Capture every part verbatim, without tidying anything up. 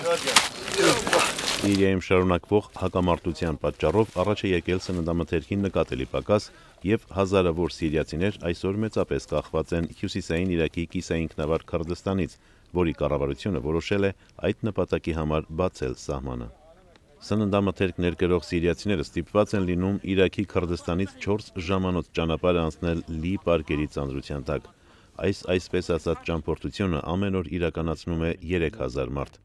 Սիրիայում շարունակվող հակամարտության պատճառով առաջ է եկել սննդամթերքի նկատելի պակաս և հազարավոր սիրիացիներ այսօր մեծապես կախված են հյուսիսային Իրաքի կիսաինքնավար Քրդստանից, որի կառավարությունը որոշել է այդ նպատակի համար բացել սահմանը։ Սննդամթերք ներկրող սիրիացիները ստիպված են լինում Իրաքի Քրդստանից չորս ժամանոց ճանապարհ անցնել լի պարկերի ծանրության տակ։ Այս այսպես ասած ճամփորդությունը ամեն օր իրականացնում է երեք հազար մարդ։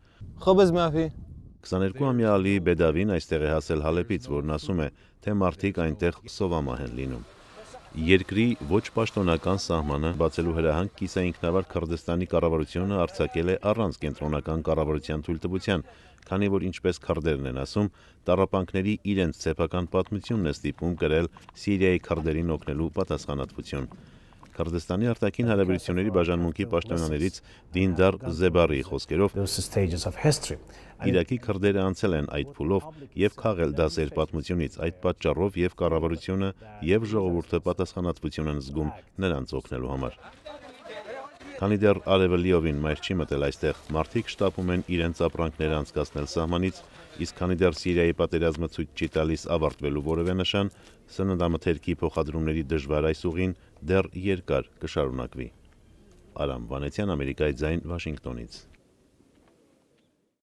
քսաներկուամյա Ալի Բեդավին այստեղ է հասել Հալեպից, որն ասում է, թե մարդիկ այնտեղ սովամահ են լինում։ Երկրի ոչ պաշտոնական սահմանը բացելու հրահանգ կիսաինքնավար Քրդստանի կառավարությունը արձակել է առանց կենտրոնական կառավարության թույլտվության, քանի որ ինչպես քրդերն են ասում, տառապանքների իրենց սեփական պատմությունն է ստիպում կրել Սիրիայի քրդերին օգնելու պատասխանատվություն։ Քրդստանի արտաքին հարաբերությունների բաժանմունքի պաշտոնյաներից Դինդար Զեբարիի խոսքերով, Իրաքի քրդերը անցել են այդ փուլով և քաղել դասեր պատմությունից, այդ պատճառով և կառավարությունը և ժողովուրդը պատասխանատվություն են զգում նրանց օգնելու համար։ Քանի դեռ արևը լիովին մայր չի մտել այստեղ, մարդիկ շտապում են իրենց ապրանքները անցկացնել սահմանից, իսկ քանի դեռ Սիրիայի պատերազմը ցույց չի տալիս ավարտվելու որևէ նշան, սննդամթերքի փոխադրումների դժվար այս ուղին դեռ երկար կշարունակվի։ Արամ Վանեցյան, Ամերիկայի ձայն, Վաշինգտոնից։